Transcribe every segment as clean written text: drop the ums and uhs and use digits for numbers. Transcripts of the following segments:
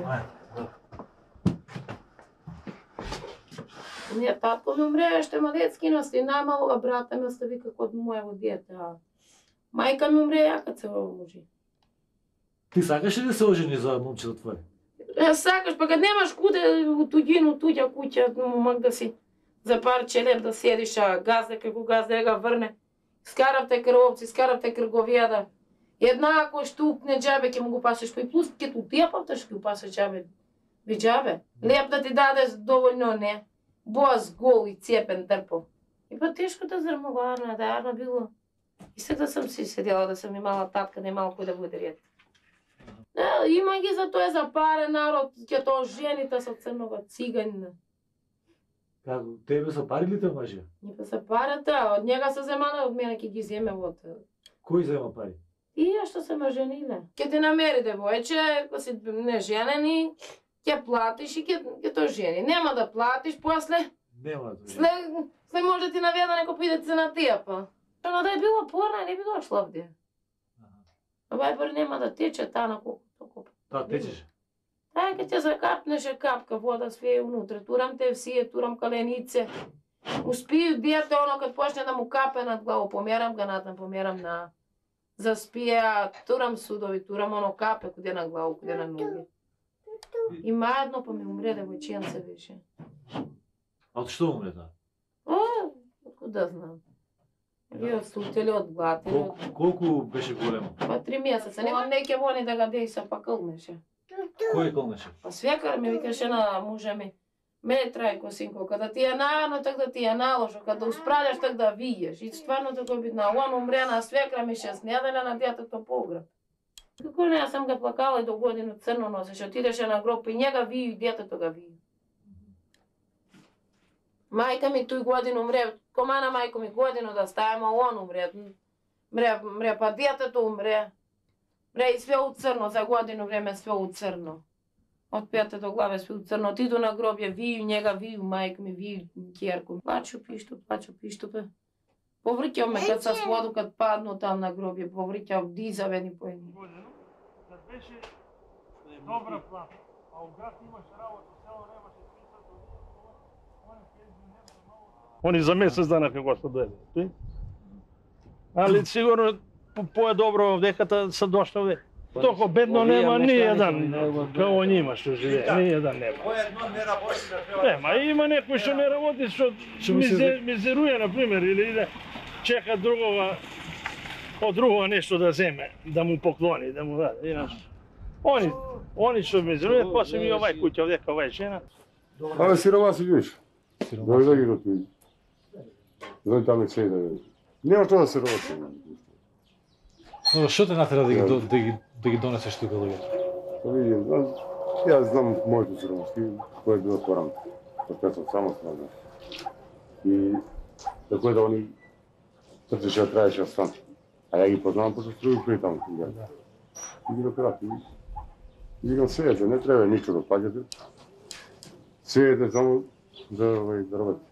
Татко. Не, татко ми умре, ще малецки носи, најмалога брата ми остави како од моево дете, а мајка ми умре, ја кад се омужи. Ти сакаш ли да се ожени за момчето твое? Сакаш, па кад немаш куде у туѓину, туѓа куќа, момак да си за парче леп да седиш, а газда како газда ја га врне. Скаравте кровци, скаравте крговијада. Еднако штукне џабе ќе му го пасеш, па и плюс ќе ту тијапавте што ќе го пасеш џабе. Би џабе. Леп да ти даде доволно не. Боз гол и цепен трпов. И па тешко да зрмува Арна, да Арна било. И се да сам си седела, да сам имала татка, не имала кој да буде ред. Има ги за тоа за паре народ, ќе тоа жените со црнога циганина. Како, тебе са пари ли те мажија? Не па са парата, од njega се земана, од мене ќе ги земе од... Кој зема пари? Тие што се мажениле. Ќе те намери девојче, ако си не женени, ќе платиш и ќе то жени. Нема да платиш, после... Нема да След може да ти наведа некој пидеце на тија, па. Она да е било порна, не би дошла овде. Вајбер нема да тече таа на колку толку. Таа течеше? Таа ќе те закапнеше капка вода свие унутре. Турам те всие, турам каленице. Успију дете, оно кад почне да му капе над главо, померам ga натам, померам на... Заспија, турам судови, турам оно капе, куде на главо, куде на ноги. Има едно, па ми умре девојченце беше. А од што умре таа? Откуда да знам. Ви од сутели, од глатели. Колку беше големо? Па 3 месеца. Нема неќе вони да га дејса, па кълнеше. Кој кълнеше? Па свекар ми викаше на мужа ми. Мене трајко, синко, када ти е најано, так да ти е наложо, када усправляш, так да виеш. И стварно тако битна. Он умре на свекра ми 6 неделя на детето погреб. Како не, јас сам га плакала и до годину црно носеше. Отидеше на гроб и njega вию и детето га вию. Мајка ми тој годину умре, комана мајко ми годину да ставаме, он умре. Мре, па детето умре. Мре и све у црно, за годину време све у црно. Од пете до главе све у црно. Отиду на гробје, вию njega, вию мајка ми, вию ќерко. Плачу пишту, бе. Поврќав ме кад са своду, кад падну там на гробје, поврќав дизавени по едни. Кад беше добра плата, а у град имаше работа, село немаше Они за месец дана како што дојде. Али сигурно по-добро овдеката се дошло овде. Толку бедно нема ни еден, као нима што живее, ни еден нема. Поедно не работи да треба. Нема, има некој што не работи, што мизеруе, например, или иде чека другога, од другога нешто да земе, да му поклони, да му даде, инаш. Они што мизеруе, после ми овај куќа овдека, овај жена. Абе, сиромаси видиш. Дојде ги ротуи. Дојде там и цеј да видиш. Нема тоа да се работи. Што те натера да ги донесеш тука луѓето? Па видим, јас знам моите сиромаски, кој е било порано. Така сум самостојно. И тако е да они трчеше да траеше да стан. А ја ги познавам пошто струи преди таму. И ги допирати. И викам сејате, не треба ништо да плаќате. Сејате само да работите.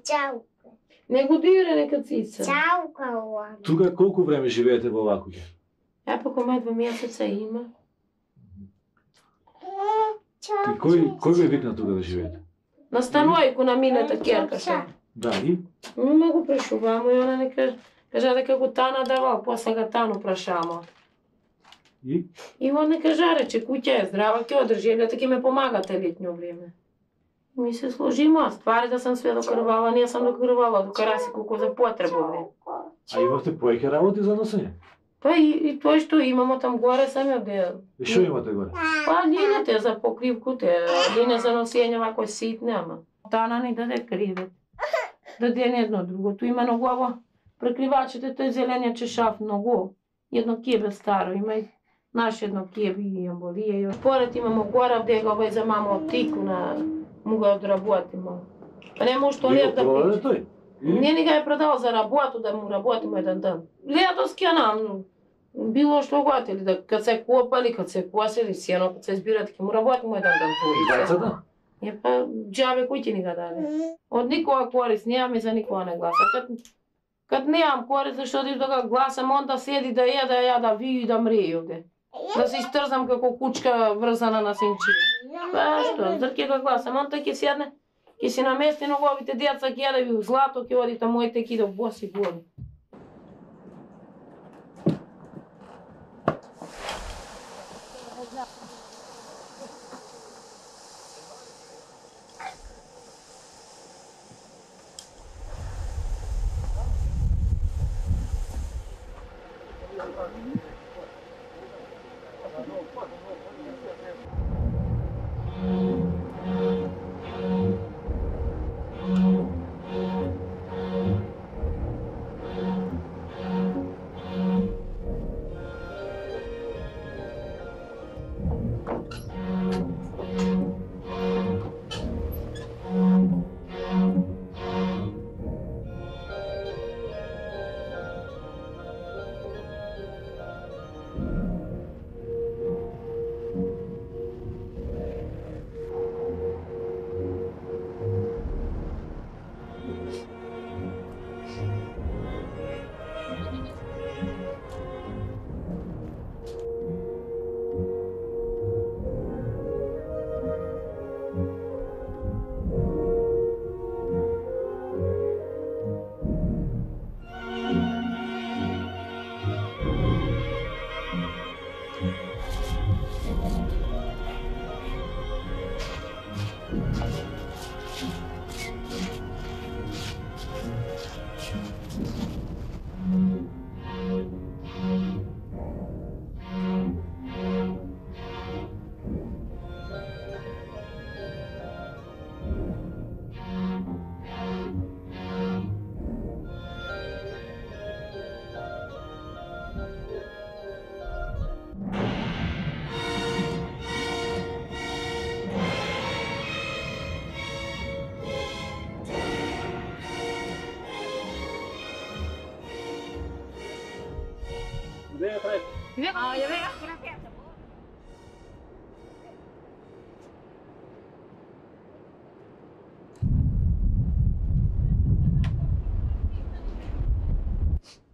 Чао. Не го дире нека цица. Чао, кауа. Тука колку време живеете во оваа куќа? Па кој 2 месеца има. И кој ве викна тука да живеете? Настанувајко на мината ќеркаша. Да, и? Ме го прашувамо и она не кажа дека го Тана давал, после га Тану прашамо. И? И он не кажа рече, куќа е здрава, ќе одржи, лето ќе ме помагате летно време. Ми се сложимо, ствари да сам све докрвала, не сам докрвала, докара си колку за потреба овде. А имавте поеќе работи за носење? Па и тоа што имамо там горе саме де. И што имате горе? Па линете за покривките, лине за носење вако ситне, ама. Тана ни даде кривет. Даде едно другото. Има многу прекривачите, тој зелениот чешав многу. Едно кебе старо, има и наше едно кебе и амболија. Поред имамо гора вдега овај за мамо тику на му го одработимо. Па не може тоалет да пише. Тој? Не ни га е продал за работу, да му работимо еден ден. Лето скенам, било што готели, да кад се копали, кад се посели, сено, кад се избират, ќе му работимо еден ден. Гајцата? Е па џабе кој ќе ни го даде? Од никога корис немам и за никога не гласа. Кад немам корис, зашто да го гласам, он да седи да јаде, ја да вiju и да мрие овде. Да се истрзам како кучка врзана на синчи. Па што, зар ќе го гласам, он тај ќе седне, ќе си намести неговите деца, ќе јаде ви злато, ќе оди таму и ќе иде боси голи.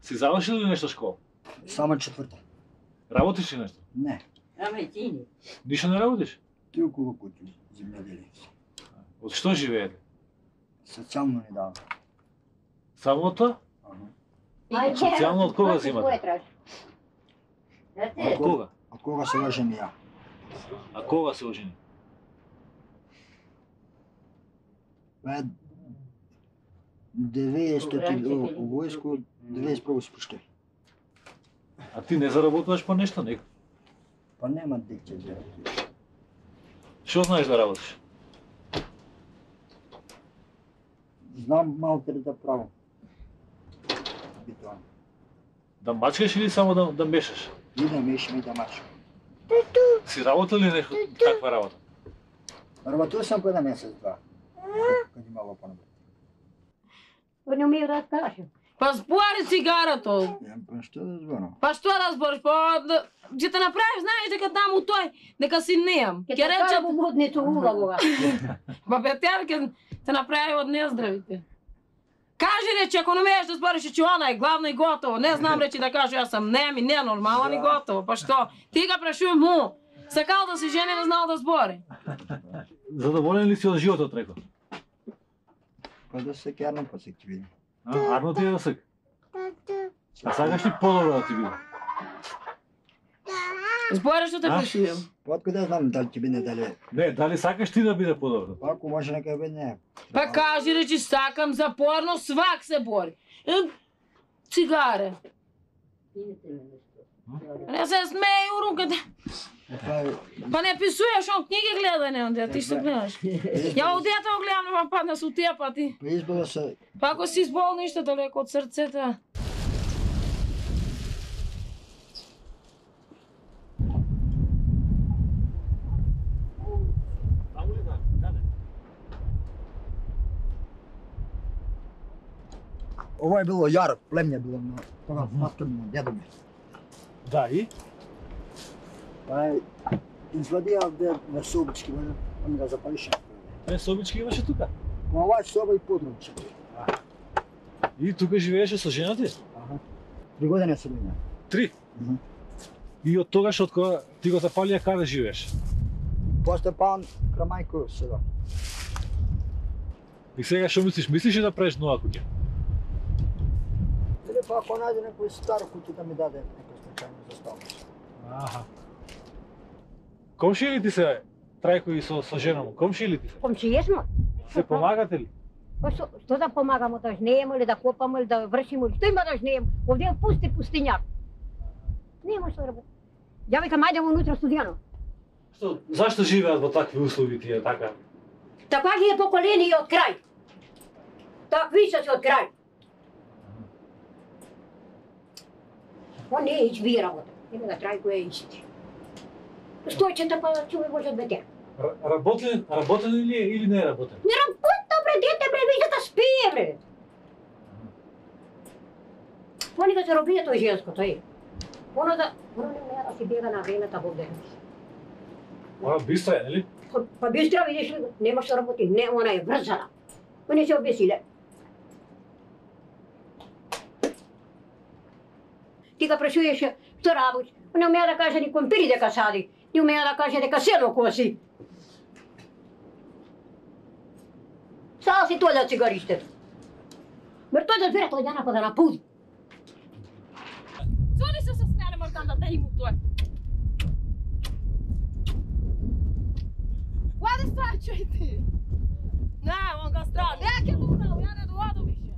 Си завршил ли нешто школа? Само четврта. Работиш ли нешто? Не. Ништо не работиш? Ти околу куќи, земјоделие. Од што живеете? Социјално не дава. Само тоа? Социјално од кога земате? Од кога? Од кога се ожени ја? А кога се ожени? Па 90 у војско, 91 се пуштил. А ти не заработуваш по нешто, некој? Па нема декче за. Што знаеш да работиш? Знам малку да правам. Битоан. Да мачкаш или само да мешаш? И да мешам и да мачкам. Си работил ли нешто таква работа? Работил сам по 1 месец-два. Кад имало понабрат. Не умею да кажам. Па збори цигарато. Па што да зборам? Па што да збориш? Па ќе те направиш, знаеш дека таму тој, дека си неам. Ќе речам во моднето улавога. Па бетер ќе те направи од нездравите. Кажи речи, ако не умееш да збориш, че она е главно и готово. Не знам речи да кажу, јас сам нем и ненормален и готово. Па што? Ти га прашувам му. Сакал да се жени, не знал да збори. Задоволен ли си од животот, рекол? Па да се кернам, па се ќе видим. Арно ти е да сак? А сакаш ли подобро да ти биде? Збори што те прашувам. Па откуда знам дали ќе биде дали. Не, дали сакаш ти да биде подобро? Па ако може нека биде не. Па кажи речи, сакам за порно, свак се бори. Цигаре. Не се смеј у руката. Па не писуеш, он книги гледа, не, онде, ти што гледаш? Ја од дете го гледам, ма падна со тие пати. Па избава се. Па ако си избол ништо далеко од срцето. Ова е било јар, племње било на тога татко ми, дедо ми. Да, и? Па извадија овде на Собички, он го запалише. Собички имаше тука. Па ова е соба и подрумче. И тука живееше со жена ти? Аха. 3 години се била. 3? И од тогаш од кога ти го запалија, каде живееш? После пан Крамајко сега. И сега што мислиш? Мислиш ли да правиш нова куќа? Или па ако најде некој стар куќа да ми даде некој случајно за ставност. Аха. Комши ли ти се Трајко и со жена му? Комши ли ти се? Комшије смо. Се помагате ли? Па што да помагаме, да жнееме или да копаме или да вршиме, или што има да жнееме? Овде е пусти пустињак. Нема што да работи. Ја викам, ајде унутре студијано. Што, зашто живеат во такви услови тие така? Така ги е поколение од крај. Такви се од крај. Он не е ичви работа. Има да Трајко е ичти. Стојчета па човек може да беде. Работен ли е или не е работен? Не работа, бре, дете, бре, вижда да спие, бре. Понека се робија тој женското, е. Оно не умеа да си бега на времето во ден. Ова бистра е, нели? Па бистра, видиш ли, нема што работи, не, она е врзана. Па не се обесиле. Ти га прашуваше што работи, не умеа да каже ни компири дека сади, не умеа да каже дека сено коси. Става си тој да цигаристето. Мер тој да збере тој дана па да напуди. Зони се смеале мартанда да иму тоа. Каде страчај ти? Не, он га стра. Не ќе дунал, ја не доаду више.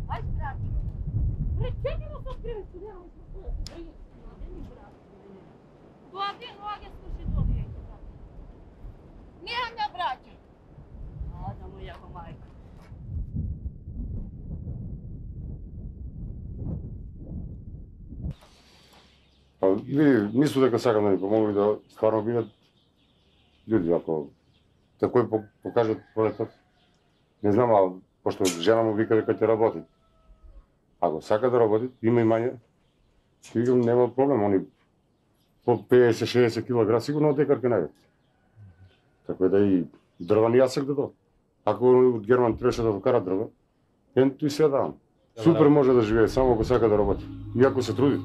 Ај страчај. Пречеки го со скриви студијано со своја студија. Доади, ноаѓе слуши доади. Не, не браќа. А, да му јако мајка. Па, види, мислу дека сакам да ми помогнат да стварно бидат луѓе, ако такој покажат полетот. Не знам, а пошто жена му вика дека ќе работи. Ако сака да работи, има имање, ќе викам нема проблем, они по 50-60 кг сигурно од декар ќе најдат. Така да и дрва ни јасек да дадат. Ако од Герман требаше да вкара дрва, тој се давам. Супер може да живее, само ако сака да работи. И ако се труди.